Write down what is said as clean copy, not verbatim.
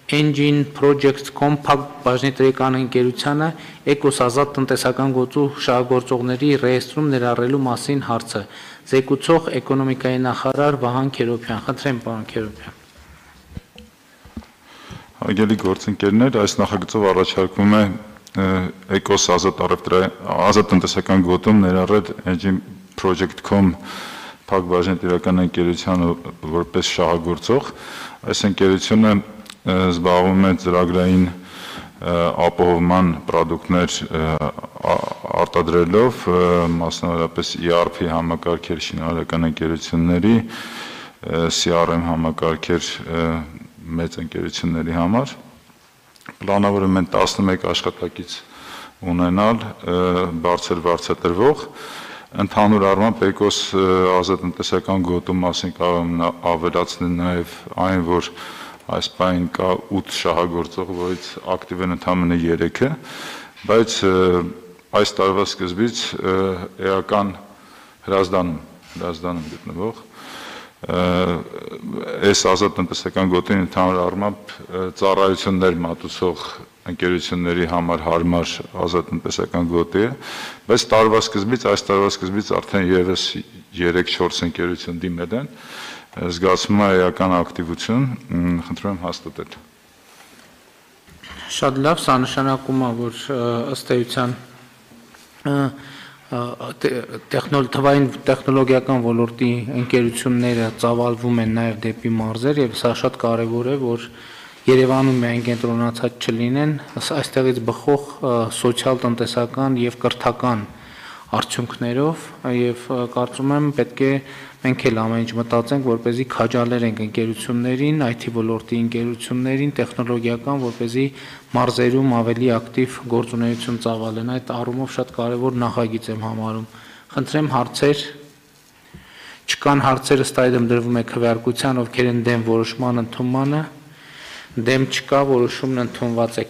Engine Projects.com փակ բաժնի տնտեսական ընկերությանը Էկոս ազատ տնտեսական գործու շահագործողների ռեեստրում ներառելու մասին հարցը։ Զեկուցող էկոնոմիկայի նախարար Վահան Քերոբյան։ Խնդրեմ, պարոն Քերոբյան։ Հարգելի գործընկերներ, այս նախագծով առաջարկվում է Էկոս ազատ տնտեսական գոտում ներառել Engine Project.com փակ բաժնի տնտեսական ընկերությանը որպես շահագործող։ Այս ընկերությունը զբաղվում է ծրագրային ապահովման պրոդուկտներ արտադրելով, մասնավորապես ERP համակարգեր շինարարական ընկերությունների, CRM համակարգեր մեծ ընկերությունների համար։ Պլանավորում են 11 աշխատակից ունենալ բարձր վարձատրվող։ Ընդհանուր առմամբ Էկոս ազատ տնտեսական գոտու մասին կարող եմ ավելացնել նաև այն, որ այս պահին կա 8 շահագործող, որից ակտիվ են ընդամենը 3-ը, բայց այս տարվա սկզբից էական հրազդանում գտնվող այս ազատ տնտեսական գոտին ընդհանուր առմամբ ծառայություններ մատուցող ընկերությունների համար հարմար ազատ տնտեսական գոտի է, բայց այս տարվա սկզբից արդեն եւս 3-4 ընկերություն դիմել են, զգացվում է էական ակտիվություն, խնդրում եմ հաստատել։ Շատ լավ, սա նշանակում է, որ ըստ էության թվային տեխնոլոգիական ոլորտի ընկերությունները ծավալվում են նաև դեպի մարզեր եւ սա շատ կարեւոր է, որ Երևանում միայն կենտրոնացած չլինեն, այստեղից բխող սոցիալ-տնտեսական եւ կրթական արդյունքներով եւ կարծում եմ պետք է մենք էլ ամեն ինչ մտածենք, որպեսզի քաջալերենք ընկերություններին, IT ոլորտի ընկերություններին, տեխնոլոգիական, որպեսզի մարզերում ավելի ակտիվ գործունեություն ծավալեն։ Այդ առումով շատ կարևոր նախագիծ եմ համարում։ Խնդրեմ հարցեր։ Չկան հարցեր, ըստ այդմ դրվում է քվեարկության, ովքեր են դեմ որոշման ընդունմանը։ Դեմ չկա, որոշումն ընդունված է։